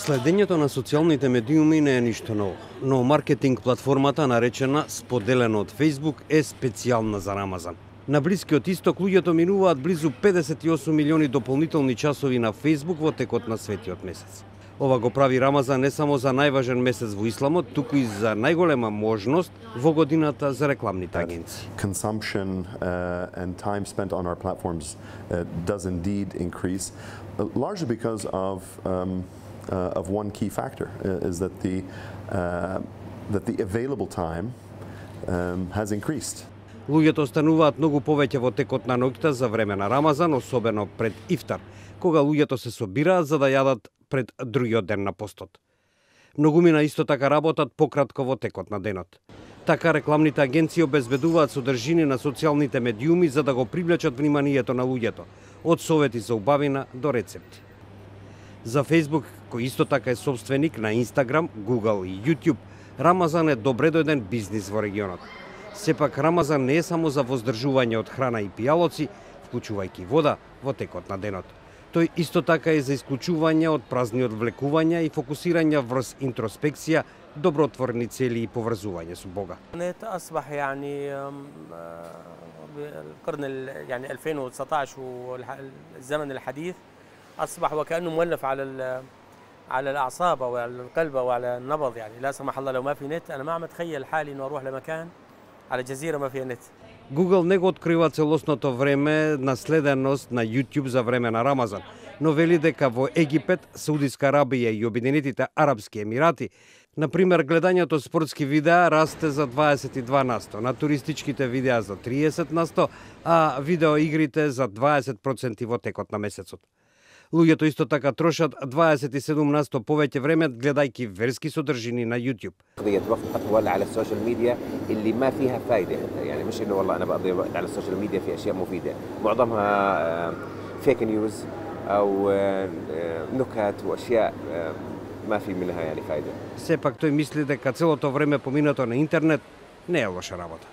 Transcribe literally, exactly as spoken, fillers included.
Следењето на социјалните медиуми не е ништо ново, но маркетинг платформата наречена споделено од Facebook е специјална за Рамазан. На Блискиот Исток луѓето минуваат близу педесет и осум милиони дополнителни часови на Facebook во текот на светиот месец. Ова го прави Рамазан не само за најважен месец во исламот, туку и за најголема можност во годината за рекламните агенции. Consumption uh, and time spent on our platforms uh, does indeed increase, uh, largely because of um, uh, of one key factor uh, is that the uh, that the available time um, has increased. Луѓето остануваат многу повеќе во текот на ноќта за време на Рамазан, особено пред ифтар, кога луѓето се собираат за да јадат пред другиот ден на постот. Многумина исто така работат пократко во текот на денот. Така рекламните агенции обезбедуваат содржини на социјалните медиуми за да го привлечат вниманието на луѓето, од совети за убавина до рецепти. За Facebook, кој исто така е собственик на Instagram, Google и YouTube, Рамазан е добре дојден бизнис во регионот. Сепак Рамазан не е само за воздржување од храна и пијалоци, вклучувајќи вода во текот на денот. Тој исто така е за исклучување од празни одвлекувања и фокусирање врз интроспекција, добротворни цели и поврзување со Бога. أصبح يعني القرن يعني ألفين وتسعطعش والزمن الحديث أصبح وكأنه مولف على على الأعصاب وعلى القلب وعلى النبض، يعني لا سمح الله لو ما في نت أنا ما عم أتخيل حالي إنه أروح لمكان على جزيرة ما فيها نت. Google не го открива целосното време на следеност на YouTube за време на Рамазан, но вели дека во Египет, Саудиска Арабија и Обединетите Арапски Емирати, например, гледањето спортски видеа расте за дваесет и два на сто, на туристичките видеа за триесет на сто, а видеоигрите за дваесет проценти во текот на месецот. Луѓето исто така трошат дваесет и седум на сто повеќе време гледајќи верски содржини на YouTube. قضية وقت أطول على السوشيال ميديا اللي ما فيها فائدة، يعني مش إنه والله أنا بقضي وقت على السوشيال ميديا في أشياء مفيدة، معظمها فيك نيوز أو نكت وأشياء ما في منها يعني فائدة. Сепак тој мисли дека целото време поминато на интернет не е лоша работа.